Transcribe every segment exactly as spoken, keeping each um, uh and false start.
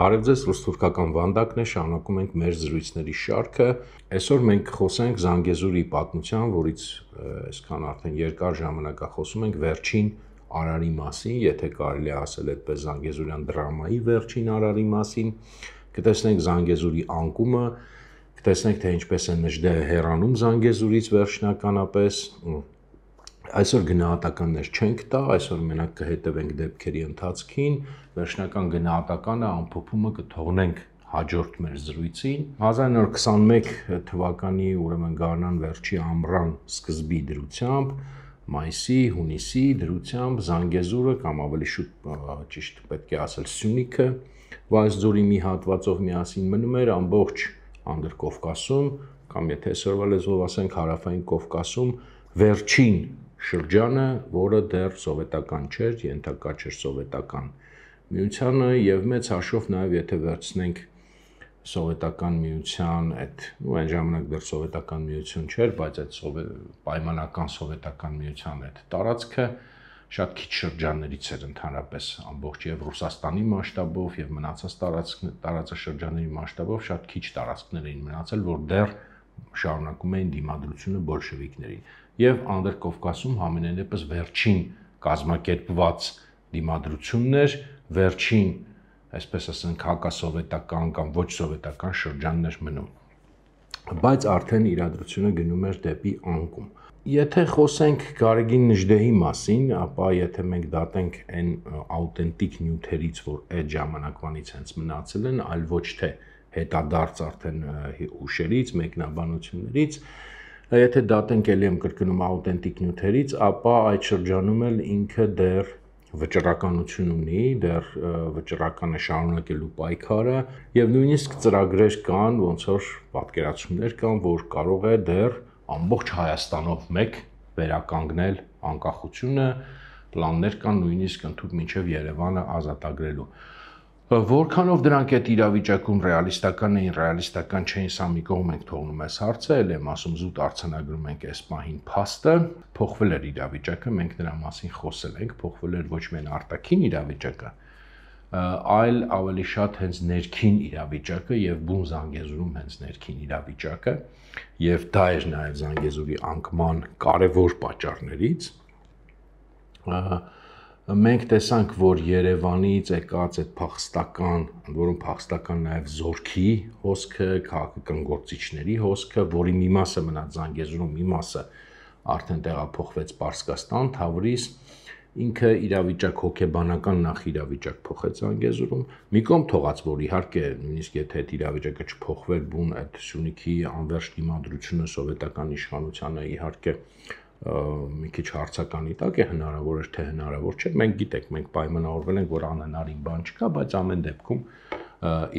Բարև ձեզ, ռուս-թուրքական վանդակն է, շարունակում ենք մեր զրույցների շարքը։ Այսօր մենք խոսենք Զանգեզուրի պատմության, որից այսքան արդեն երկար ժամանակ խոսում ենք վերջին արարի մասին, եթե կարելի է ասել այդպես Զանգեզուրյան դրամայի վերջին արարի մասին, կտեսնենք Զանգեզուրի անկումը, կտեսնենք թե ինչպես է Նժդեհը հեռանում Զանգեզուրից վերջնականապես։ Այսօր գնահատականներ չենք տա, այսօր մենակ կհետևենք դեպքերի ընթացքին, վերջնական գնահատականը ամփոփումը կթողնենք հաջորդ մեր զրույցին։ հազար նորը քսաներկու թվականի ուրեմն գարնան վերջի ամռան սկզբի դրությամբ, մայիսի, հունիսի դրությամբ Զանգեզուրը կամ ավելի շուտ ճիշտ պետք է ասել Սյունիքը Վայոց ձորի մի հատվածով միասին մնում էր ամբողջ Անդրկովկասում կամ եթե այսօրվա լեզվով ասենք հարավային Կովկասում վերջին շրջանը, որը դեռ սովետական չէր, ենթակա չէր սովետական միությանը եւ մեծ հաշվով նաեւ եթե վերցնենք սովետական միության այդ ու այն ժամանակ դեռ սովետական միություն չէր, բայց այդ պայմանական սովետական միության այդ տարածքը շատ քիչ շրջաններից էր ընդհանրապես ամբողջ եւ Ռուսաստանի մասշտաբով եւ մնացած տարածաշրջանների մասշտաբով շատ քիչ տարածքներ էին մնացել, որ դեռ շարունակում էին դիմադրությունը բոլշևիկներին եւ Անդրկովկասում համենայն դեպս վերջին կազմակերպված դիմադրությունն էր, վերջին, այսպես ասենք, հակասովետական կամ ոչ սովետական շրջաններ մնում։ Բայց արդեն իրադրությունը գնում էր դեպի անկում։ Եթե խոսենք Գարեգին Նժդեհի մասին, ապա եթե մենք դատենք այն աուտենտիկ նյութերից, որ այդ ժամանակվանից հենց մնացել են, այլ ոչ թե հետադարձ արդեն ուշերից, մեկնաբանություններից, եթե դատենք ելի եմ կրկնում աուտենտիկ նյութերից, ապա այդ շրջանում էլ ինքը դեռ վճռականություն ունի, դեռ վճռական է շարունակելու պայքարը եւ նույնիսկ ծրագրեր կան, ոնց որ պատկերացումներ կան, որ կարող է դեռ ամբողջ Հայաստանով մեկ վերականգնել անկախությունը, պլաններ կան նույնիսկ ընդհանուր մինչև Երևանը ազատագրելու։ Որքանով դրանք այդ իրավիճակում ռեալիստական էին, ռեալիստական չէին, սա մի կողմ ենք թողնում այս հարցը, ել եմ ասում զուտ արձանագրում ենք այս պահին փաստը, փոխվել էր իրավիճակը, մենք դրա մասին խոսել ենք, փոխվել էր ոչ միայն արտաքին իրավիճակը, այլ ավելի շատ հենց ներքին իրավիճակը եւ բուն Զանգեզուրում հենց ներքին իրավիճակը, եւ դա էր նաեւ Զանգեզուրի անկման կարևոր պատճառներից։ Մենք տեսանք, որ Երևանից եկած այդ փախստական, ընդ որում փախստական նաև զորքի հոսքը, քաղաքական գործիչների հոսքը, որի մի մասը մնաց Զանգեզուրում, մի մասը արդեն տեղափոխվեց Պարսկաստան, Թավրիզ, ինքը իրավիճակ հոգեբանական նախ իրավիճակ փոխեց Զանգեզուրում, մի կողմ թողած, որ իհարկե նույնիսկ եթե այդ իրավիճակը չփոխվեր, բուն այդ Սյունիքի անվերջ դիմադրությունը սովետական իշխանությանը իհարկե մի քիչ հարցականի տակ է, հնարավոր էր թե հնարավոր չէ, մենք գիտենք, մենք պայմանավորվել ենք, որ անհնարին բան չկա, բայց ամեն դեպքում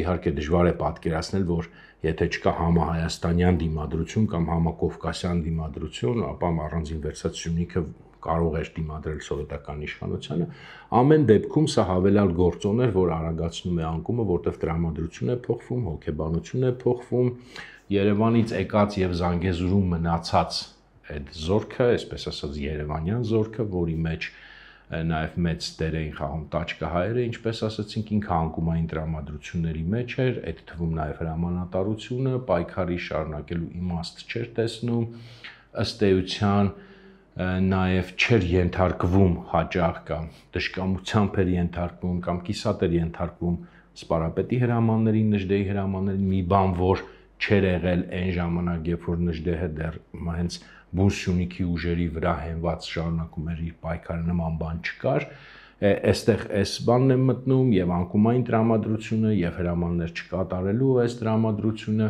իհարկե դժվար է պատկերացնել, որ եթե չկա համահայաստանյան դիմադրություն կամ համակովկասյան դիմադրություն, ապա առանձին վերցած Սյունիքը կարող էր դիմադրել սովետական իշխանությանը, ամեն դեպքում սա հավելյալ գործոն էր, որ արագացնում է անկումը, որտեղ տրամադրություն է փոխվում, հոգեբանություն է փոխվում, Երևանից եկած եւ Զանգեզուրում մնացած այդ զորքը, այսպես ասած Երևանյան զորքը, որի մեջ նաև մեծ դեր էին խաղում տաճկահայերը, ինչպես ասացինք, ինքը անկումային տրամադրությունների մեջ էր, այդ թվում նաև հրամանատարությունը, պայքարի շարունակելու իմաստ չէր տեսնում, ըստ էության նաև չէր ենթարկվում հաճախ կամ դժկամությամբ էր ենթարկվում կամ կիսատ էր ենթարկվում սպարապետի հրամաններին, Նժդեհի հրամաններին, մի բան, որ չէր եղել այն ժամանակ, երբ որ Նժդեհը դեռ հենց բուն Սյունիքի ուժերի վրա հենված շարունակում էր իր պայքարը, նման բան չկար, այստեղ այս բանն է մտնում եւ անկումային տրամադրությունը եւ հրամաններ չկատարելու այս տրամադրությունը,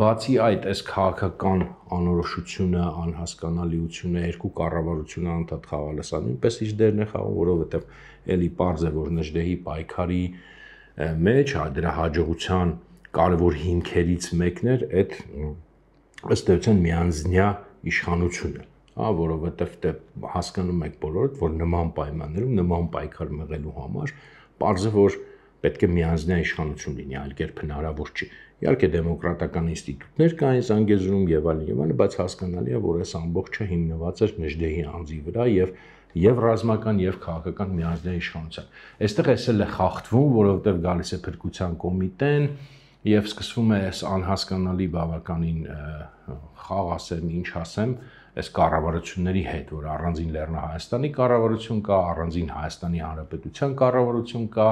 բացի այդ այս քաղաքական անորոշությունը, անհասկանալիությունը, երկու կառավարությունը անդադ խաղալը, սա նույնպես իր դերն է խաղում, որովհետեւ էլի պարզ է, որ Նժդեհի պայքարի մեջ դրա հաջողության կարևոր հիմքերից մեկն էր այդ ըստ էության միանձնյա իշխանությունը, հա, որովհետև դե հասկանում եք բոլորդ, որ նման պայմաններում, նման պայքար մղելու համար պարզ է, որ պետք է միանձնյա իշխանություն լինի, այլ կերպ հնարավոր չի։ Իհարկե դեմոկրատական ինստիտուտներ կային Զանգեզուրում եւ այլն եւ այլն, բայց հասկանալի է, որ այս ամբողջը հիմնված էր Նժդեհի անձի վրա եւ եւ ռազմական եւ քաղաքական միանձնյա իշխանության։ Այստեղ էս էլ է խախտվում, որովհետեւ գալիս է փրկության կոմիտեն եւ սկսվում է այս անհասկանալի բավականին խաղ ասեմ, ինչ ասեմ, այս կառավարությունների հետ, որ առանձին Լեռնահայաստանի կառավարություն կա, առանձին Հայաստանի Հանրապետության կառավարություն կա,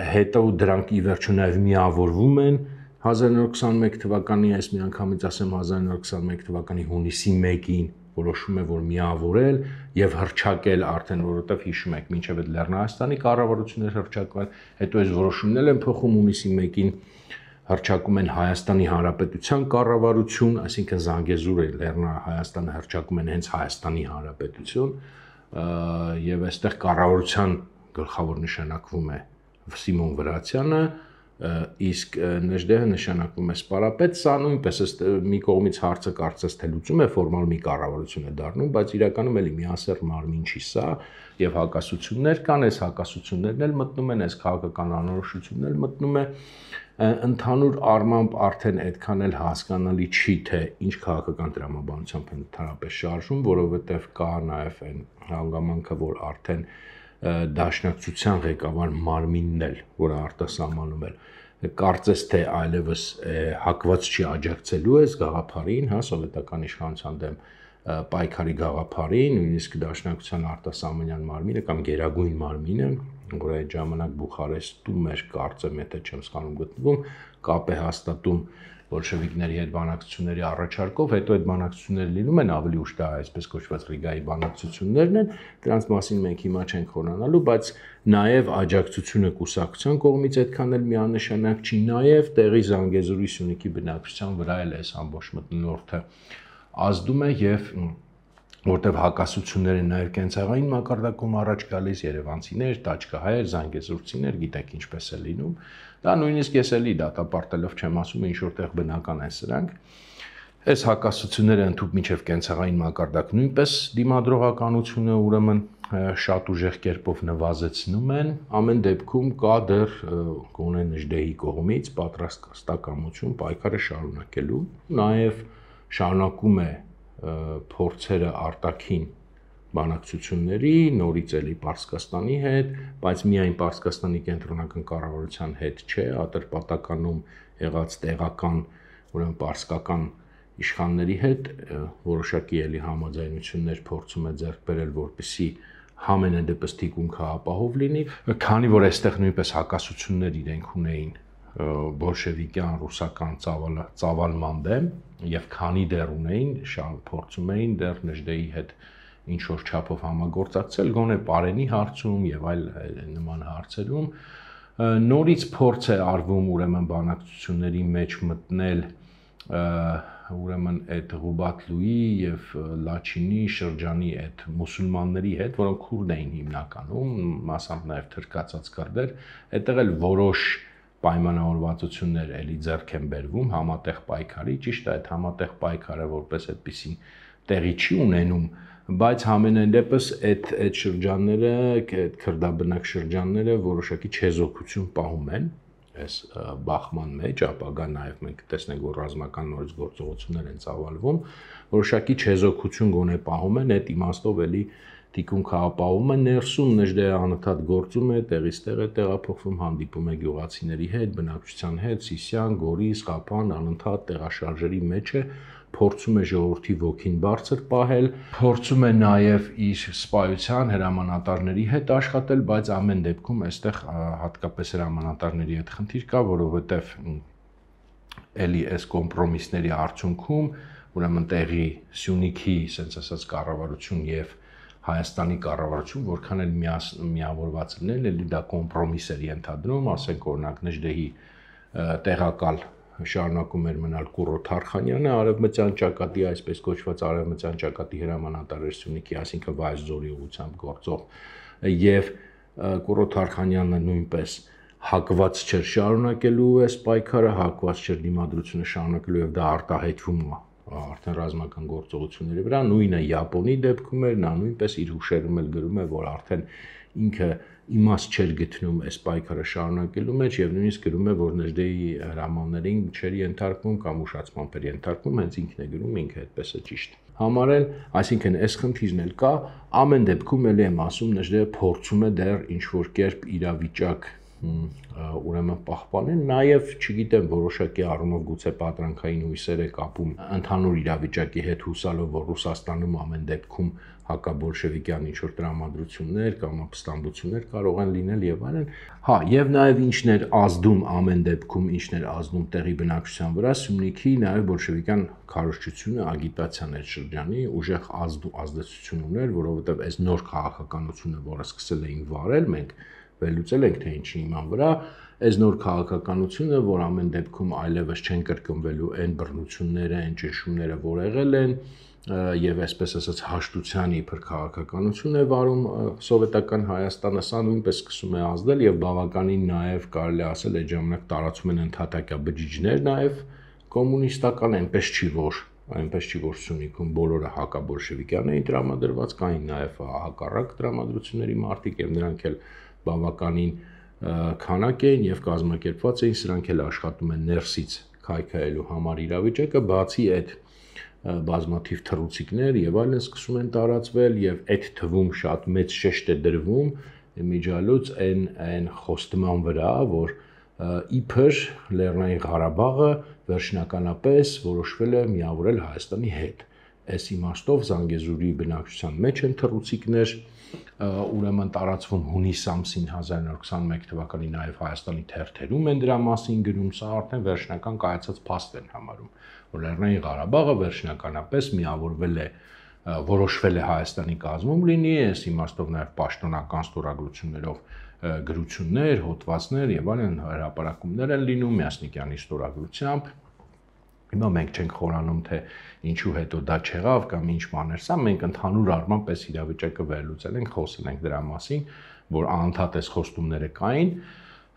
հետո դրանք ի վերջո նաեւ միավորվում են հազար նորը քսաներկու թվականի, այս միանգամից ասեմ հազար նորը քսաներկու թվականի հունիսի մեկին որոշում է, որ միավորել եւ հռչակել արդեն, որովհետեւ հիշում եք, մինչեւ այդ Լեռնահայաստանի կառավարություններ հռչակվել, հետո այս որոշումներն են փոխում հունիսի մեկին հռչակում են Հայաստանի Հանրապետության կառավարություն, այսինքն Զանգեզուրը Լեռնահայաստանը հռչակում են հենց Հայաստանի Հանրապետություն, եւ այստեղ կառավարության գլխավոր նշանակվում է Սիմոն Վրացյանը, իսկ Նժդեհը նշանակվում է Սպարապետ, սա նույնպես մի կողմից հարցը կարծես թե լուծում է, ֆորմալ մի կառավարություն է դառնում, բայց իրականում էլի միասեռ մարմին չի սա, եւ հակասություններ կան, այս հակասություններն էլ մտնում են, այս քաղաքական անորոշությունն էլ մտնում է, ընդհանուր առմամբ արդեն այդքան էլ հասկանալի չի, թե ինչ քաղաքական տրամաբանությամբ են ընդհանրապես շարժում, որովհետեւ կա նաեւ այն հանգամանքը, որ արդեն դաշնակցության ղեկավար մարմինն էլ, որը արտասահմանում է, կարծես թե այլևս հակված չի աջակցելու այս գաղափարին, հա, սովետական իշխանության դեմ պայքարի գաղափարին, նույնիսկ դաշնակցության արտասահմանյան մարմինը կամ գերագույն մարմինը, որ այդ ժամանակ Բուխարեստում էր, կարծեմ, եթե չեմ սխալվում գտնվում, կապ է հաստատում բոլշևիկների հետ բանակցությունների առաջարկով, հետո այդ բանակցությունները լինում են ավելի ուշ, դա այսպես կոչված Ռիգայի բանակցություններն են, դրանց մասին մենք հիմա չենք խորանալու, բայց նաև աջակցությունը կուսակցության կողմից այդքան էլ միանշանակ չի, նաև տեղի Զանգեզուրի Սյունիքի բնակչության վրա էլ այս ամբողջ մթնոլորտը ազդում է եւ որտեվ հակասությունները նաև կենցաղային մակարդակում առաջ գալիս երևանցիներ, տաճկահայեր, զանգեզուրցիներ, գիտեք ինչպես է լինում, դա նույնիսկ ես էլի դատապարտելով չեմ ասում, ինչ որտեղ բնական են սրանք, այս հակասությունները ընդհուպ մինչև կենցաղային մակարդակ նույնպես դիմադրողականությունը ուրեմն շատ ուժեղ կերպով նվազեցնում են, ամեն դեպքում կա դեռ գոնե Նժդեհի կողմից պատրաստակամություն պայքարը շարունակելու, նաև շարունակում է փորձերը արտաքին բանակցությունների, նորից էլի Պարսկաստանի հետ, բայց միայն Պարսկաստանի կենտրոնական կառավարության հետ չէ, Ատրպատականում եղած տեղական, ուրեմն պարսկական իշխանների հետ որոշակի էլի համաձայնություններ փորձում է ձեռք բերել, որպեսզի համենայնդեպս թիկունքը ապահով լինի, քանի որ այստեղ նույնպես հակասություններ իրենք ունեին բոլշևիկյան ռուսական ծավալման դեմ եւ քանի դեռ ունեին, փորձում էին դեռ Նժդեհի հետ ինչ որ չափով համագործակցել, գոնե Պարենի հարցում եւ այլ նման հարցերում, նորից փորձ է արվում ուրեմն բանակցությունների մեջ մտնել ուրեմն այդ Ղուբատլուի եւ Լաչինի շրջանի այդ մուսուլմանների հետ, որոնք քուրդ էին հիմնականում, մասամբ նաեւ թրկացած քրդեր, այդտեղ էլ որոշ պայմանավորվածություններ էլի ձեռք են բերվում համատեղ պայքարի, ճիշտ է, այդ համատեղ պայքարը որպես այդպեսին տեղի չի ունենում, բայց համենայն դեպս այդ այդ շրջանները, այդ քրդաբնակ շրջանները որոշակի չեզոքություն պահում են այս բախման մեջ, ապագա նաև մենք տեսնենք, որ ռազմական նորից գործողություններ են ծավալվում, որոշակի չեզոքություն գոնե պահում են, այդ իմաստով էլի թիկունքը ապահովում է ներսում, Նժդեհը անընդհատ գործում է, տեղից տեղ է տեղափոխվում, հանդիպում է գյուղացիների հետ, բնակչության հետ, Սիսիան, Գորիս, Ղափան, անընդհատ տեղաշարժերի մեջ է, փորձում է ժողովրդի ոգին բարձր պահել, փորձում է նաև իր սպայության հրամանատարների հետ աշխատել, բայց ամեն դեպքում այստեղ հատկապես հրամանատարների հետ խնդիր կա, որովհետև էլի այս կոմպրոմիսների արդյունքում, ուրեմն տեղի Սյունիքի, ասենց ասած, կառավարություն եւ Հայաստանի կառավարություն, որքան էլ միավորված լինեն, էլի դա կոմպրոմիս էր ենթադրում, ասենք օրինակ Նժդեհի տեղակալ շարունակում էր մնալ Կուրո Թարխանյանը, արևմտյան ճակատի, այսպես կոչված արևմտյան ճակատի հրամանատար էր Սյունիքի, այսինքն Վայոց-Ձորի ուղղությամբ գործող, եւ Կուրո Թարխանյանը նույնպես հակված չէր շարունակելու այս պայքարը, հակված չէր դիմադրությունը շարունակելու եւ դա արտահայտվում է արդեն ռազմական գործողությունների վրա, նույնը Յապոնի դեպքում էր, նա նույնպես իր հուշերում էլ գրում է, որ արդեն ինքը իմաստ չէր գտնում այս պայքարը շարունակելու մեջ եւ նույնիսկ գրում է, որ Նժդեի հրամաններին չէր ենթարկվում կամ ուշացման էր ենթարկվում, հենց ինքն է գրում, ինքը այդպես է ճիշտ համարել, այսինքն այս խնդիրն էլ կա, ամեն դեպքում էլ եմ ասում, Նժդեը փորձում է դեռ ինչ որ կերպ իրավիճակ ուրեմն պահպանել, նաև չգիտեմ որոշակի առումով գուցե պատրանքային հույսեր է կապում ընդհանուր իրավիճակի հետ հուսալով, որ Ռուսաստանում ամեն դեպքում հակաբոլշևիկյան ինչ-որ տրամադրություններ կամ ապստամբություններ կարող են լինել եւ այլն, հա, եւ նաեւ ինչն էր ազդում ամեն դեպքում, ինչն էր ազդում տեղի բնակչության վրա, Սյունիքի նաեւ բոլշևիկյան քարոզչությունը ագիտացիան էր շրջանի ուժեղ ազդեցություն ուներ, որովհետեւ այս նոր քաղաքականությունը, որը սկսել էին վարել, մենք վերլուծել ենք թե ինչի իման վրա, այս նոր քաղաքականությունը, որ ամեն դեպքում այլևս չեն կրկնվելու այն բռնությունները, այն ճնշումները, որ եղել են, եւ այսպես ասած հաշտության իբր քաղաքականություն է վարում սովետական Հայաստանը, սա նույնպես սկսում է ազդել եւ բավականին նաեւ կարելի ասել այդ ժամանակ տարածում են ընդհատակյա բջիջներ նաեւ կոմունիստական, այնպես չի որ այնպես չի որ Սյունիքում բոլորը հակաբոլշևիկյան էին տրամադրված, կային նաեւ հակառակ տրամադրությունների մարտիկ եւ նրանք էլ բավականին քանակ էին եւ կազմակերպված էին, սրանք էլ աշխատում են ներսից քայքայելու համար իրավիճակը, բացի այդ բազմաթիվ թռուցիկներ եւ այլն սկսում են տարածվել եւ այդ թվում շատ մեծ շեշտ է դրվում միջալուց այն այն խոստման վրա, որ իբր Լեռնային Ղարաբաղը վերջնականապես որոշվել է միավորել Հայաստանի հետ։ Այս իմաստով Զանգեզուրի բնակչության մեջ են թռուցիկներ, ուրեմն տարածվում հունիս ամսին հազար նոր քսաներկու թվականի նաև Հայաստանի թերթերում են դրա մասին գրում, սա արդեն վերջնական կայացած փաստ են համարում, որ Լեռնային Ղարաբաղը վերջնականապես միավորվել է, որոշվել է Հայաստանի կազմում լինի, այս իմաստով նաև պաշտոնական ստորագրություններով գրություններ, հոդվածներ եւ այլն հրապարակումներ են լինում Միասնիկյանի ստորագրությամբ։ Հիմա մենք չենք խորանում, թե ինչու հետո դա չեղավ կամ ինչ բաներ, սա մենք ընդհանուր առմամբ այս իրավիճակը վերլուծել ենք, խոսել ենք դրա մասին, որ անընդհատ այս խոստումները կային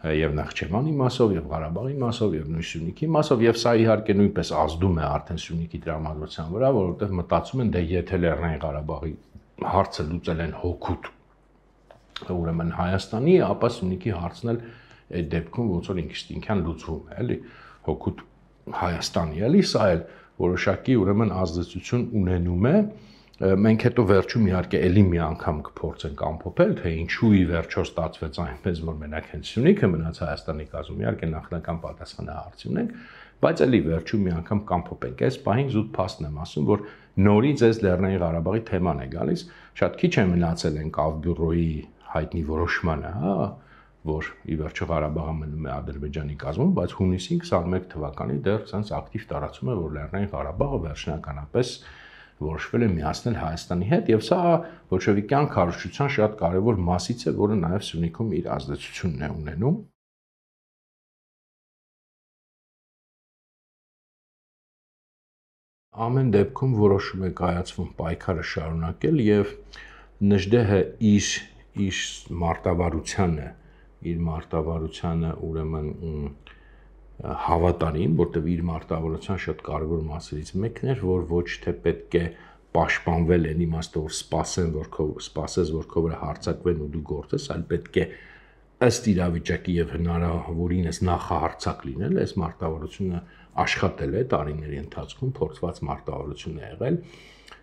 եւ Նախճեվանի մասով եւ Ղարաբաղի մասով եւ նույն Սյունիքի մասով եւ սա իհարկե նույնպես ազդում է արդեն Սյունիքի տրամադրության վրա, որովհետեւ մտածում են դե եթե Լեռնային Ղարաբաղի հարցը լուծել են հօգուտ ուրեմն Հայաստանի, ապա Սյունիքի հարցն էլ այդ դեպքում ոնց որ ինքնին լուծվում է, էլի հօգուտ Հայաստանի, էլի սա էլ որոշակի ուրեմն ազդեցություն ունենում է, մենք հետո վերջում իհարկե էլի մի անգամ կփորձենք ամփոփել, թե ինչու ի վերջո ստացվեց այնպես, որ մենակ հենց Սյունիքը մնաց Հայաստանի կազմում, իհարկե նախնական պատասխանը հարցի ունենք, բայց էլի վերջում մի անգամ կամփոփենք, այս պահին զուտ փաստն եմ ասում, որ նորից այս Լեռնային Ղարաբաղի թեման է գալիս, շատ քիչ է մնացել են Կավբյուրոյի հայտնի որոշմանը, հա, որ ի վերջո Ղարաբաղը մնում է Ադրբեջանի կազմում, բայց հունիսի քսաներկու թվականի դեռ ցած ակտիվ տարածում է, որ Լեռնային Ղարաբաղը վերջնականապես որոշվել է միացնել Հայաստանի հետ, եւ սա բոլշևիկյան քարոզչության շատ կարևոր մասից է, որը նաեւ Սյունիքում իր ազդեցությունն է ունենում։ Ամեն դեպքում որոշում է կայացվում պայքարը շարունակել եւ Նժդեհը իր իր մարտավարությանը իր մարտավարությանը ուրեմն հավատարիմ, որտեղ իր մարտավարության շատ կարևոր մասերից մեկն էր, որ ոչ թե պետք է պաշտպանվել այն իմաստով, որ սպասեն, որ քո սպասես, որ քո վրա հարձակվեն ու դու գործես, այլ պետք է ըստ իրավիճակի եւ հնարավորինս նախահարձակ լինել, այս մարտավարությունը աշխատել է տարիների ընթացքում, փորձված մարտավարություն է եղել։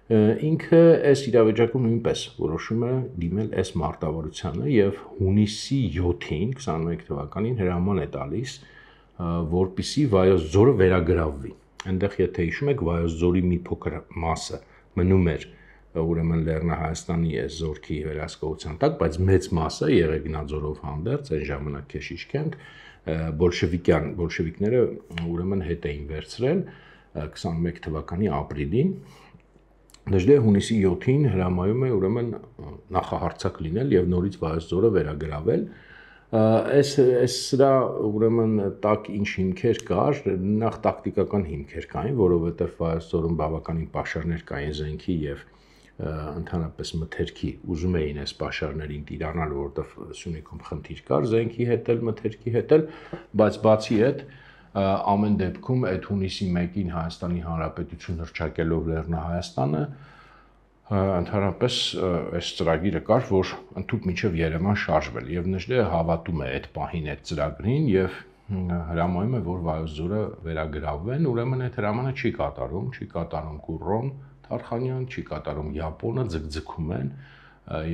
Ինքը այս իրավիճակում նույնպես որոշում է դիմել այս մարտավարությանը եւ հունիսի յոթին քսաներկու թվականին հրաման է տալիս, որպիսի Վայոց ձորը վերագրավվի։ Այնտեղ եթե հիշում եք, Վայոց ձորի մի փոքր մասը մնում էր ուրեմն Լեռնահայաստանի այս զորքի վերահսկողության տակ, բայց մեծ մասը Եղեգնաձորով հանդերձ այն ժամանակ Քեշիշքենտ բոլշևիկյան բոլշևիկները ուրեմն հետ էին վերցրել քսաներկու թվականի ապրիլին։ Նժդեհը հունիսի յոթին հրամայում է ուրեմն նախահարձակ լինել եւ նորից Վայոց ձորը վերագրավել։ Այս այս սրա ուրեմն տակ ինչ հիմքեր կար, նախ տակտիկական հիմքեր կային, որովհետեւ Վայոց ձորում բավականին պաշարներ կային զենքի եւ ընդհանրապես մթերքի, ուզում էին այս պաշարներին տիրանալ, որովհետեւ Սյունիքում խնդիր կար զենքի հետ էլ, մթերքի հետ էլ, բայց բացի այդ ամեն դեպքում այդ հունիսի մեկին Հայաստանի Հանրապետություն հռչակելով Լեռնահայաստանը ընդհանրապես այս ծրագիրը կար, որ ընդհանուր մինչև Երևան շարժվել եւ Նժդեհը հավատում է այդ պահին այդ ծրագրին եւ հրամայում է, որ Վայոց ձորը վերագրավվեն, ուրեմն այդ հրամանը չի կատարում, չի կատարում Կուրրոն Թարխանյան, չի կատարում Յապոնը, ձգձգում են,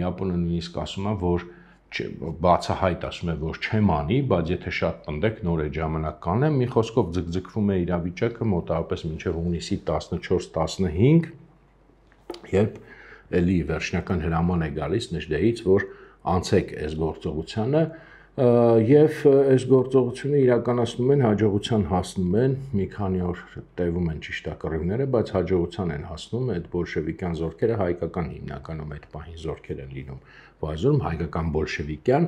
Յապոնը նույնիսկ ասում է, որ բացահայտ ասում է, որ չեմ անի, բայց եթե շատ տնდեք նոր է ժամանակ կանեմ, մի խոսքով ձգձգվում է իրավիճակը մոտավորապես մինչև հունիսի տասնչորս տասնհինգ, երբ էլի վերջնական հրաման է գալիս Նժդեհից, որ անցեք այս գործողությանը եւ այս գործողությունը իրականացնում են, հաջողության հասնում են, մի քանի օր տևում են ճիշտ է կռիվները, բայց հաջողության են հասնում այդ բոլշևիկյան զորքերը, հայկական հիմնականում այդ պահին զորքեր են լինում Վայոց հայկական բոլշևիկյան,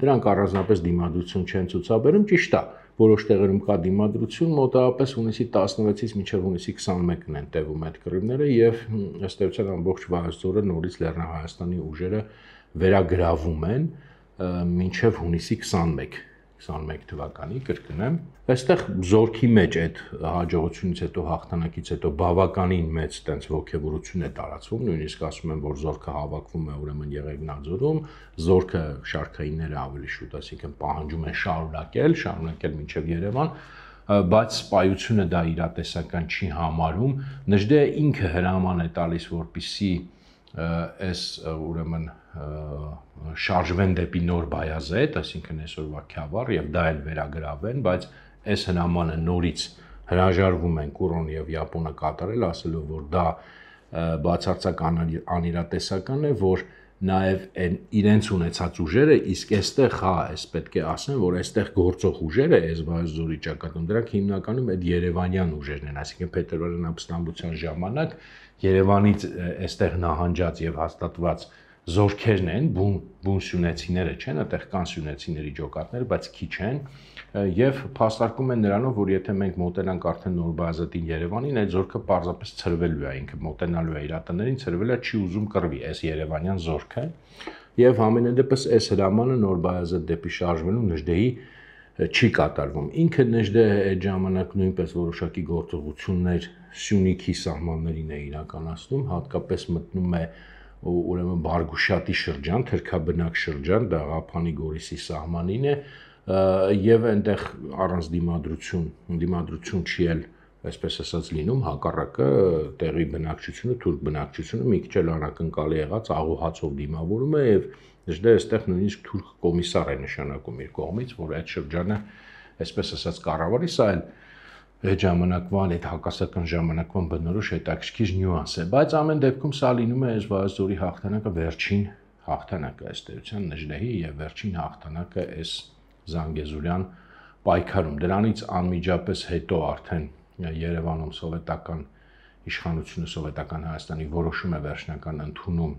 դրանք առանձնապես դիմադրություն չեն ցուցաբերում, ճիշտ է, որոշ տեղերում կա դիմադրություն, մոտավորապես հունիսի տասնվեցից մինչև հունիսի քսանմեկն են տևում այդ կռիվները եւ ըստ էության ամբողջ Վայոց ձորը նորից Լեռնահայաստանի ուժերը վերագրավում են մինչև հունիսի քսանմեկ թվականի կրկնեմ, այստեղ զորքի մեջ այդ հաջողությունից հետո հաղթանակից հետո բավականին մեծ տենց ողջավորություն է տարածվում, նույնիսկ ասում են, որ զորքը հավաքվում է ուրեմն Եղեգնաձորում, զորքը շարքայինները ավելի շուտ, այսինքն պահանջում են շարունակել, շարունակել մինչև Երևան, բայց սպայությունը դա իրատեսական չի համարում, Նժդեհը ինքը հրաման է տալիս, որպեսզի այս ուրեմն շարժվեն դեպի Նոր Բայազեդ, այսինքն այսօրվա Քյավառ եւ դա էլ վերագրավեն, բայց այս հրամանը նորից հրաժարվում են Կուրրոն եւ Յապոնը կատարել, ասելով, որ դա բացարձակ անիրատեսական է, որ նաեւ իրենց ունեցած ուժերը, իսկ այստեղ հա, այս պետք է ասեմ, որ այստեղ գործող ուժերը, այս Վայոց ձորի ճակատում, դրանք հիմնականում այդ երևանյան ուժերն են, այսինքն Փետրվարյան ապստամբության ժամանակ Երևանից այստեղ նահանջած եւ հաստատված զորքերն են, բուն բուն սյունեցիները չեն, այդտեղ կան սյունեցիների ջոկատներ, բայց քիչ են եւ փաստարկում են նրանով, որ եթե մենք մոտենանք արդեն Նոր Բայազետին Երևանին, այդ զորքը պարզապես ցրվելու է, ինքը մոտենալու է իր տներին, ցրվել է, չի ուզում կռվի, այս երևանյան զորքը եւ ամենադեպս այս հրամանը Նոր Բայազետ դեպի շարժվելու Նժդեհի չի կատարվում։ Ինքը Նժդեհը այդ ժամանակ նույնպես որոշակի գործողություններ Սյունիքի սահմաններին է իրականացնում, հատկապես մտնում է ուրեմն Բարգուշատի շրջան, թրքաբնակ շրջան, դա Ղափանի Գորիսի սահմանին է եւ այնտեղ առանց դիմադրություն, դիմադրություն չի էլ, այսպես ասած լինում, հակառակը տեղի բնակչությունը, թուրք բնակչությունը մի քիչ էլ անակնկալի եղած աղոհացով դիմավորում է եւ Նժդեհը այստեղ նույնիսկ թուրք կոմիսար է նշանակում իր կողմից, որ այդ շրջանը, այսպես ասած, կառավարի, սա էլ այդ ժամանակվան, այդ հակասական ժամանակվան բնորոշ հետաքրքիր նյուանս է, բայց ամեն դեպքում սա լինում է այս Վայոց ձորի հաղթանակը վերջին հաղթանակը ըստ էության Նժդեհի եւ վերջին հաղթանակը այս Զանգեզուրյան պայքարում։ Դրանից անմիջապես հետո արդեն Երևանում սովետական իշխանությունը, սովետական Հայաստանի որոշում է վերջնական ընդունում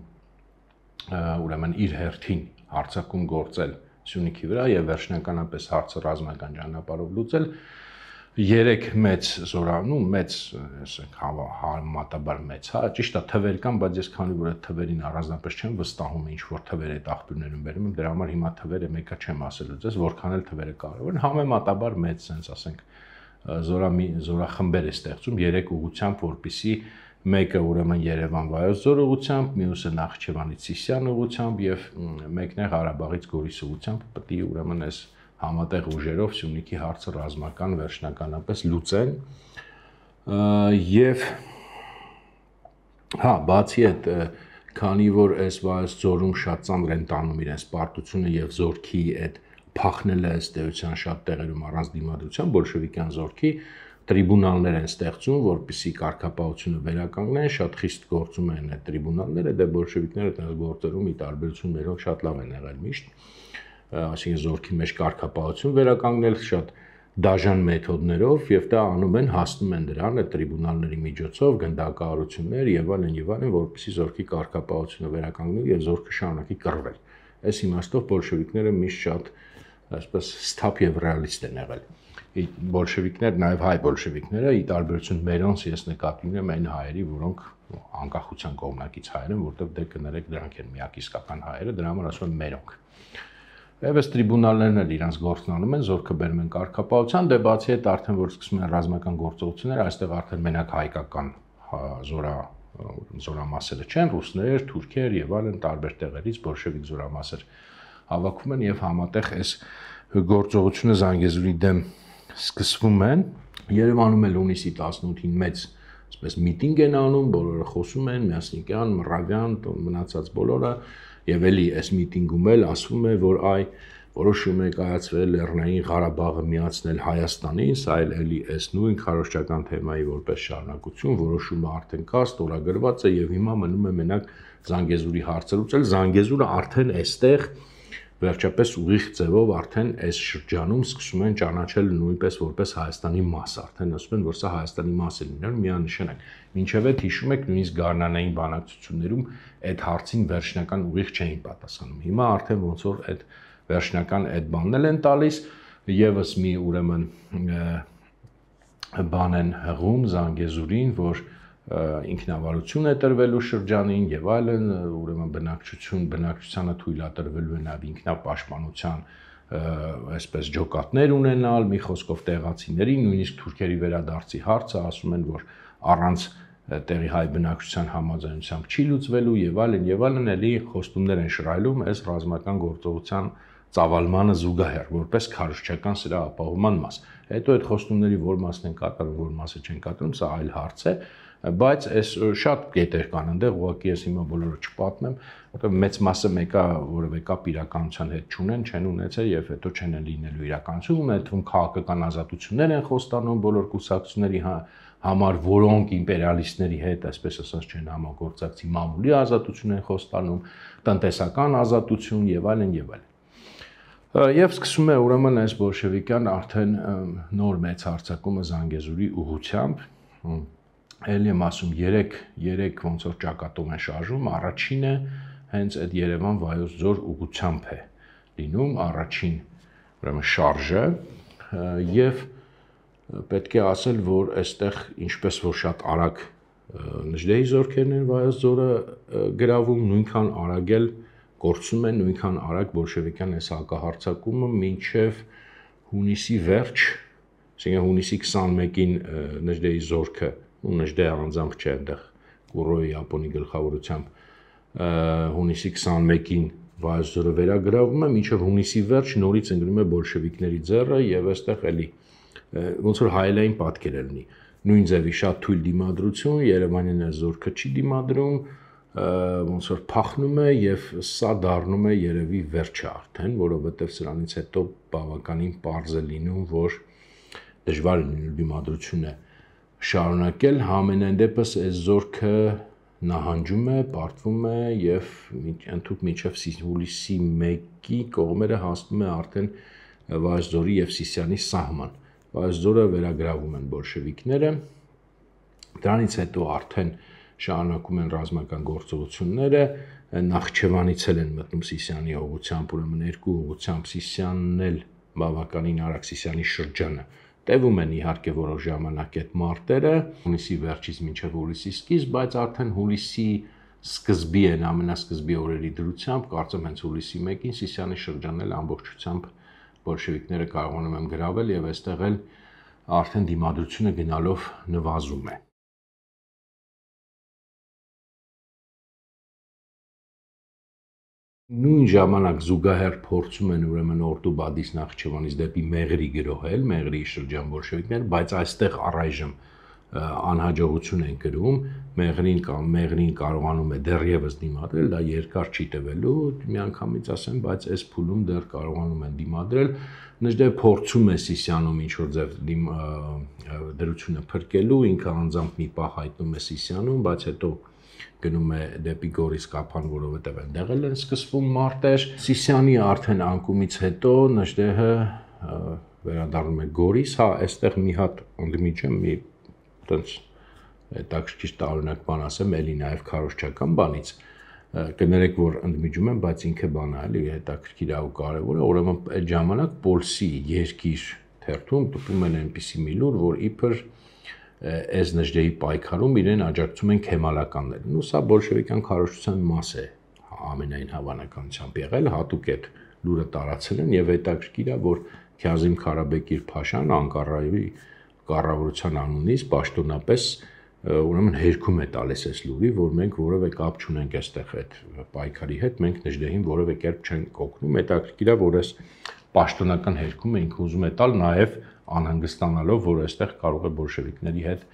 ուրեմն իր հերթին հարձակում գործել Սյունիքի վրա եւ վերջնականապես հարցը ռազմական ճանապարհով լուծել երեք մեծ զորանում, մեծ, ասենք, համեմատաբար մեծ, հա, ճիշտ է, թվեր կան, բայց ես քանի որ այդ թվերին առանձնապես չեմ վստահում, ինչ որ թվեր այդ աղբյուրներում բերում եմ, դրա համար հիմա թվերը մեկը չեմ ասելու ձեզ, որքան էլ թվերը կարևոր են, համեմատաբար մեծ, sense, ասենք, զորամի զորախմբեր է ստեղծում երեք ուղղությամբ, որպեսզի մեկը ուրեմն Երևան Վայոց ձոր ուղղությամբ, մյուսը Նախճեվանից Սիսիան ուղղությամբ եւ մեկն է Ղարաբաղից Գորիս ուղղությամբ, պետք է ուրեմն այս համատեղ ուժերով Սյունիքի հարցը ռազմական վերջնականապես լուծեն եւ հա, բացի այդ, քանի որ այս Վայոց ձորում շատ ծանր են տանում իրենց պարտությունը եւ զորքի այդ փախնելը ըստ էության շատ տեղերում առանց դիմադրության բոլշևիկյան զորքի տրիբունալներ են ստեղծում, որպեսզի կարգապահությունը վերականգնեն, շատ խիստ գործում են այդ տրիբունալները, դե բոլշևիկները այդպես գործերում ի տարբերություն մերոնք շատ լավ են եղել միշտ, այսինքն զորքի մեջ կարգապահություն վերականգնել շատ դաժան մեթոդներով եւ դա անում են, հասնում են դրան այդ տրիբունալների միջոցով, գնդակահարություններ եւ այլն եւ այլն, որպեսզի զորքի կարգապահությունը վերականգնի եւ զորքը շարունակի կռվել։ Այս իմաստով բոլշևիկները միշտ շատ այսպես սթափ եւ ռեալիստ են եղել։ Բոլշևիկներ, նաև հայ բոլշևիկները, ի տարբերություն մերոնց, ես նկատի ունեմ այն հայերի, որոնք անկախության կողմնակից հայեր են, որտեղ դե կներեք դրանք են միակ իսկական հայերը, դրա համար ասում եմ մերոնք։ Եվ այս տրիբունալներն էլ իրենց գործն անում են, զորքը բերում են կարգապահության, դե բացի այդ արդեն որ սկսում են ռազմական գործողություններ, այստեղ արդեն մենակ հայկական զորա զորամասերը չեն, ռուսներ, թուրքեր եւ այլն տարբեր տեղերից բոլշևիկ զորամասեր հավաքում են եւ համատեղ այս գործողությունը Զանգեզուրի դեմ սկսվում են։ Երևանում էլ հունիսի տասնութին մեծ այսպես միտինգ են անում, բոլորը խոսում են, Մյասնիկյան, Մռավյան, մնացած բոլորը եւ էլի այս միտինգում էլ ասվում է, որ այ որոշում է կայացվել Լեռնային Ղարաբաղը միացնել Հայաստանին, սա էլ էլի այս նույն քարոզչական թեմայի որպես շարունակություն, որոշումը արդեն կա, ստորագրված է եւ հիմա մնում է մենակ Զանգեզուրի հարցը լուծել։ Զանգեզուրը արդեն այստեղ վերջապես ուղիղ ձևով արդեն այս շրջանում սկսում են ճանաչել նույնպես որպես Հայաստանի մաս, արդեն ասում են, որ սա Հայաստանի մաս է լինել, միանշանակ։ Մինչև այդ հիշում եք նույնիսկ գարնանային բանակցություններում այդ հարցին վերջնական ուղիղ չէին պատասխանում։ Հիմա արդեն ոնց որ այդ վերջնական այդ բանն են տալիս, եւս մի ուրեմն բան են հղում Զանգեզուրին, որ ինքնավարություն է տրվելու շրջանին եւ այլն, ուրեմն բնակչություն բնակչությանը թույլատրվելու է նաեւ ինքնապաշտպանության այսպես ջոկատներ ունենալ, մի խոսքով տեղացիների, նույնիսկ թուրքերի վերադարձի հարցը ասում են, որ առանց տեղի հայ բնակչության համաձայնությամբ չի լուծվելու եւ այլն եւ այլն, էլի խոստումներ են շռայլում այս ռազմական գործողության ծավալմանը զուգահեռ, որպես քարոզչական սրա ապահովման մաս։ Հետո այդ խոստումների որ մասն են կատարում, որ մասը չեն կատարում, սա այլ հարց է, բայց այս շատ կետեր կան այնտեղ, ուղղակի ես հիմա բոլորը չպատմեմ, որտեղ մեծ մասը մեկը որևէ կապ իրականության հետ չունեն, չեն ունեցել եւ հետո չեն լինելու իրականություն, այդ թվում քաղաքական ազատություններ են խոստանում բոլոր կուսակցությունների համար, որոնք իմպերիալիստների հետ, այսպես ասած, չեն համագործակցի, մամուլի ազատություն են խոստանում, տնտեսական ազատություն եւ այլն եւ այլն։ Եվ սկսում է ուրեմն այս բոլշևիկյան արդեն նոր մեծ հարձակումը Զանգեզուրի ուղղությամբ, էլ եմ ասում երեք ոնց որ ճակատով են շարժում, առաջինը հենց այդ Երևան Վայոց ձոր ուղղությամբ է լինում, առաջին ուրեմն շարժը եւ պետք է ասել, որ այստեղ ինչպես որ շատ արագ Նժդեհի զորքերն են Վայոց ձորը գրավում, նույնքան արագ էլ գործում են, նույնքան արագ բոլշևիկյան այս հակահարձակումը մինչև հունիսի վերջ, այսինքն հունիսի քսանմեկին Նժդեհի զորքը, ու Նժդեհը առանձամբ չէ, այնտեղ Կուրոյի Յապոնի գլխավորությամբ հունիսի քսանմեկին Վայոց ձորը վերագրավում է, մինչև հունիսի վերջ նորից ընկնում է բոլշևիկների ձեռը եւ այստեղ էլի ոնց որ հայելային պատկեր է լինի։ Նույն ձևի շատ թույլ դիմադրություն, Երևանյան այս զորքը չի դիմադրում, ոնց որ փախնում է եւ սա դառնում է երևի վերջը արդեն, որովհետեւ սրանից հետո բավականին պարզ է լինում, որ դժվար է լինելու դիմադրությունը շարունակել, համենայն դեպս այս զորքը նահանջում է, պարտվում է եւ ընդհանուր մինչեւ հուլիսի մեկի կողմերը հասնում է արդեն Վայոց ձորի եւ Սիսիանի սահման։ Վայոց ձորը վերագրավում են բոլշևիկները, դրանից հետո արդեն շարունակում են ռազմական գործողությունները, Նախճեվանից էլ են մտնում Սիսիանի ուղղությամբ, ուրեմն երկու ուղղությամբ Սիսիանն էլ բավականին արագ Սիսիանի շրջանը տևում են իհարկե որոշ ժամանակ այդ մարտերը, հունիսի վերջից մինչև հուլիսի սկիզբ, բայց արդեն հուլիսի սկզբի են ամենասկզբի օրերի դրությամբ, կարծեմ հենց հուլիսի մեկին Սիսիանի շրջանն էլ ամբողջությամբ բոլշևիկները կարողանում են գրավել եւ այստեղ էլ արդեն դիմադրությունը գնալով նվազում է։ Նույն ժամանակ զուգահեռ փորձում են ուրեմն Օրդուբադից Նախճեվանից դեպի Մեղրի գրոհել, Մեղրի շրջան բոլշևիկներ, բայց այստեղ առայժմ անհաջողություն են կրում, Մեղրին կամ Մեղրին կարողանում է դեռևս դիմադրել, դա երկար չի տևելու, միանգամից ասեմ, բայց այս փուլում դեռ կարողանում են դիմադրել, Նժդեհը փորձում է Սիսիանում ինչ որ ձև դրությունը փրկելու, ինքը անձամբ մի պահ հայտնում է Սիսիանում, բայց հետո գնում է դեպի Գորիսկափան, որովհետև այնտեղ են սկսվում մարտեր։ Սիսիանի արդեն անկումից հետո Նժդեհը վերադառնում է Գորիս, հա, այստեղ մի հատ ընդմիջեմ, մի տենց հետաքրքիր տարօրինակ բան ասեմ, էլի նաև քարոզչական բանից, կներեք, որ ընդմիջում եմ, բայց ինքը բան է, էլի հետաքրքիր է ու կարևոր է, ուրեմն այդ ժամանակ Պոլսի երկիր թերթում տպում են այնպիսի մի լուր, որ իբր այս Նժդեհի պայքարում իրեն աջակցում են քեմալականներն, ու սա բոլշևիկյան քարոզչության մաս է ամենայն հավանականությամբ եղել, հատուկ այդ լուրը տարածել են եւ հետաքրքիր է, որ Քազիմ Քարաբեկիր Փաշան Անկարայի կառավարության անունից պաշտոնապես ուրեմն հերքում է տալիս այս լուրի, որ մենք որևէ կապ չունենք այստեղ այդ պայքարի հետ, մենք Նժդեհին որևէ կերպ չենք օգնում, հետաքրքիր է, որ այս պաշտոնական հերքումը ինքը ուզում է տալ նաև անհանգստանալով, որ այստեղ կարող է բոլշևիկների հետ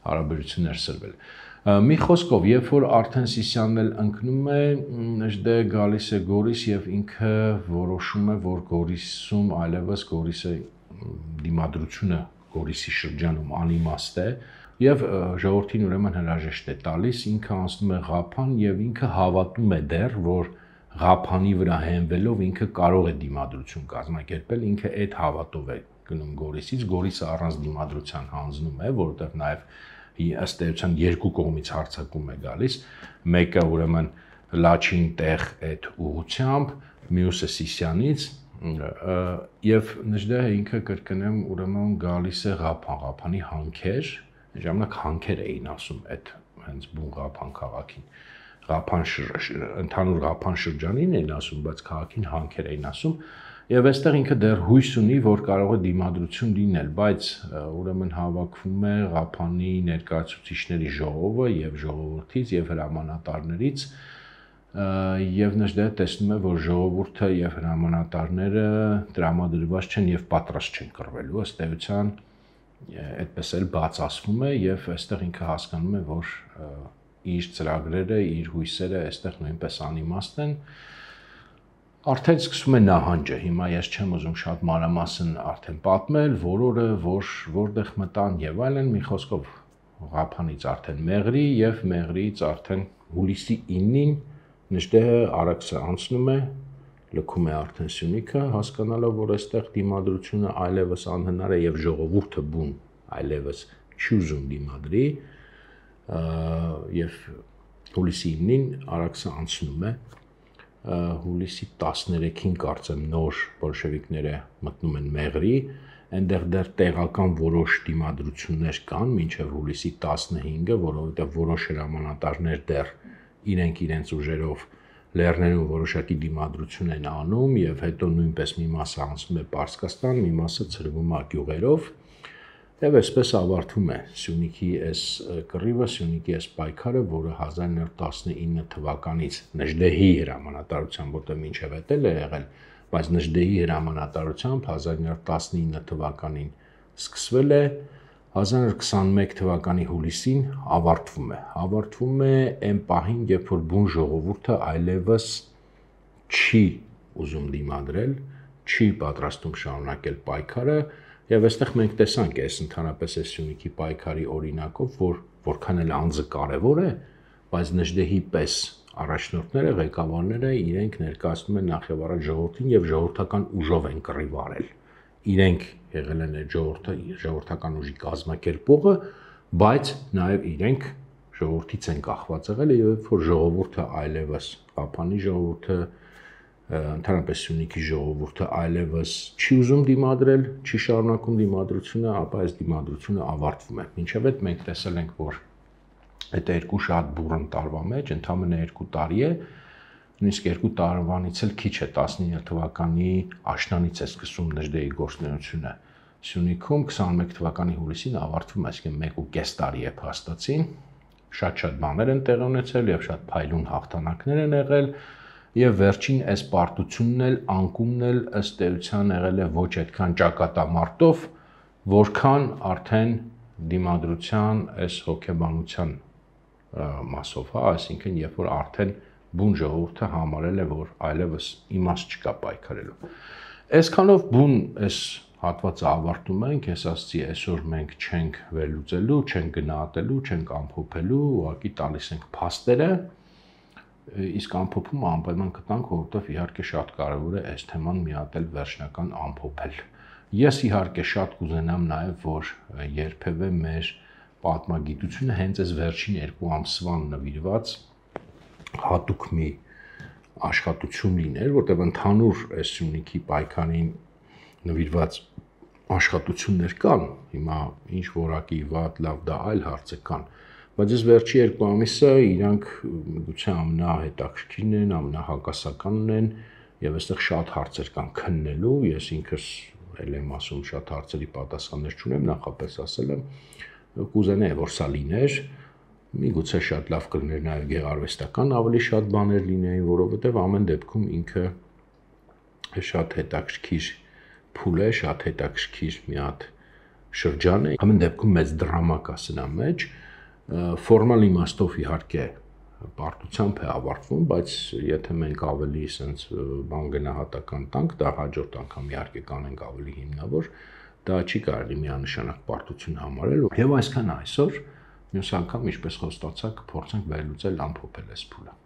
հարաբերություններ սրվել։ Մի խոսքով, երբ որ արդեն Սիսյանն էլ ընկնում է, Նժդեհը գալիս է Գորիս եւ ինքը որոշում է, որ Գորիսում այլևս Գորիսը դիմադրությունը Գորիսի շրջանում անիմաստ է եւ ժողովրդին ուրեմն հրաժեշտ է տալիս, ինքը անցնում է Ղափան եւ ինքը հավատում է դեռ, որ Ղափանի վրա հենվելով ինքը կարող է դիմադրություն կազմակերպել, ինքը այդ հավատով է գնում Գորիսից, Գորիսը առանց դիմադրության հանձնում է, որովհետեւ նաեւ ըստ էության երկու կողմից հարձակում է գալիս, մեկը ուրեմն Լաչին տեղ այդ ուղությամբ, մյուսը Սիսյանից եւ Նժդեհը ինքը կրկնեմ ուրեմն գալիս է Ղափան, Ղափանի հանքեր, ժամանակ հանքեր էին ասում այդ հենց բուն Ղափան քաղաքին, Ղափան ընդհանուր Ղափան շրջանին էին ասում, բայց քաղաքին հանքեր էին ասում եւ այստեղ ինքը դեռ հույս ունի, որ կարող է դիմադրություն լինել, բայց ուրեմն հավաքվում է Ղափանի ներկայացուցիչների ժողովը եւ ժողովրդից եւ հրամանատարներից եւ Նժդեհը տեսնում է, որ ժողովուրդը եւ հրամանատարները տրամադրված չեն եւ պատրաստ չեն կռվելու, ըստ էության այդպես էլ բաց ասվում է եւ այստեղ ինքը հասկանում է, որ իր ծրագրերը, իր հույսերը այստեղ նույնպես անիմաստ են։ Արդեն սկսում է նահանջը, հիմա ես չեմ ուզում շատ մանրամասն արդեն պատմել, որ օրը, որ որտեղ մտան եւ այլն, մի խոսքով Ղափանից արդեն Մեղրի եւ Մեղրիից արդեն հուլիսի իննին Նժդեհը Արաքսը անցնում է, լքում է արդեն Սյունիքը, հասկանալով, որ այստեղ դիմադրությունը այլևս անհնար է եւ ժողովուրդը բուն այլևս չի ուզում դիմադրի եւ հուլիսի իննին Արաքսը անցնում է, հուլիսի տասներեքին կարծեմ նոր բոլշևիկները մտնում են Մեղրի, այնտեղ դեռ տեղական որոշ դիմադրություններ կան մինչև հուլիսի տասնհինգը, որովհետեւ որոշ հրամանատարներ դեռ իրենք իրենց ուժերով լեռներում որոշակի դիմադրություն են անում եւ հետո նույնպես մի մասը անցնում է Պարսկաստան, մի մասը ցրվում է գյուղերով եւ այսպես ավարտվում է Սյունիքի այս կռիվը, Սյունիքի այս պայքարը, որը հազար նոր տասնինը թվականից Նժդեհի հրամանատարությամբ, որտեղ մինչև այդ էլ է եղել, բայց Նժդեհի հրամանատարությամբ հազար նոր տասնինը թվականին սկսվել է, հազար նոր քսանմեկ թվականի հուլիսին ավարտվում է։ Ավարտվում է այն պահին, երբ որ բուն ժողովուրդը այլևս չի ուզում դիմադրել, չի պատրաստում շարունակել պայքարը, եւ այստեղ մենք տեսանք այս ընդհանրապես այս Սյունիքի պայքարի օրինակով, որ որքան էլ անձը կարեւոր է, բայց Նժդեհի պես առաջնորդները, ղեկավարները իրենք ներկայացնում են նախ եւ առաջ ժողովրդին եւ ժողովրդական ուժով են կռիվ արել։ Իրենք եղել են ժողովրդը, ժողովրդական ուժի կազմակերպողը, բայց նաև իրենք ժողովրդից են կախված եղել եւ որ ժողովուրդը այլևս Ղափանի ժողովուրդը, ընդհանրապես Սյունիքի ժողովուրդը այլևս չի ուզում դիմադրել, չի շարունակում դիմադրությունը, ապա այս դիմադրությունը ավարտվում է։ Մինչև այդ մենք տեսել ենք, որ այդ երկու շատ բուրըն տարվա մեջ, ընդամենը երկու տարի է, նույնիսկ երկու տարվանից էլ քիչ է, տասնինը թվականի աշնանից է սկսում Նժդեհի գործունեությունը Սյունիքում, քսանմեկ թվականի հուլիսին ավարտվում է, այսինքն մեկ ու կես տարի է փաստացին, շատ-շատ բաներ են տեղի ունեցել եւ շատ փայլուն հաղթանակներ են եղել եւ վերջին այս պարտությունն էլ անկումն էլ ըստ էության եղել է ոչ այդքան ճակատամարտով, որքան արդեն դիմադրության այս հոգեբանության մասով, հա, այսինքն երբ որ արդեն բուն ժողովուրդը համարել է, որ այլևս իմաստ չկա պայքարելու։ Այսքանով բուն այս հատվածը ավարտում ենք, ես ասացի այսօր մենք չենք վերլուծելու, չենք գնահատելու, չենք ամփոփելու, ուղղակի տալիս ենք փաստերը, իսկ ամփոփումը անպայման կտանք, որովհետև իհարկե շատ կարևոր է այս թեման մի հատ էլ վերջնական ամփոփել։ Ես իհարկե շատ կուզենամ նաև, որ երբևէ մեր պատմագիտությունը հենց այս վերջին երկու ամսվան նվիրված հատուկ մի աշխատություն լիներ, որտեղ ընդհանուր այս Սյունիքի պայքարին նվիրված աշխատություններ կան, հիմա ինչ որակի վատ, լավ, դա այլ հարց է կան, բայց այս վերջի երկու ամիսը իրանք գուցե ամենահետաքրքիրն են, ամենահակասականն են եւ այստեղ շատ հարցեր կան քննելու, ես ինքս էլ եմ ասում շատ հարցերի պատասխաններ չունեմ, նախապես ասել եմ, կուզենայի որ սա լիներ, միգուցե շատ լավ կլիներ նաեւ գեղարվեստական ավելի շատ բաներ լինեին, որովհետեւ ամեն դեպքում ինքը շատ հետաքրքիր փուլ է, շատ հետաքրքիր մի հատ շրջան է, ամեն դեպքում մեծ դրամա կա սրա մեջ, ֆորմալ իմաստով իհարկե պարտությամբ է ավարտվում, բայց եթե մենք ավելի sense բան գնահատական տանք, դա հաջորդ անգամ իհարկե կանենք ավելի հիմնավոր, դա չի կարելի միանշանակ պարտություն համարել, եւ այսքան այսօր, մյուս անգամ ինչպես խոստացա, կփորձենք վերլուծել ամփոփել այս փուլը։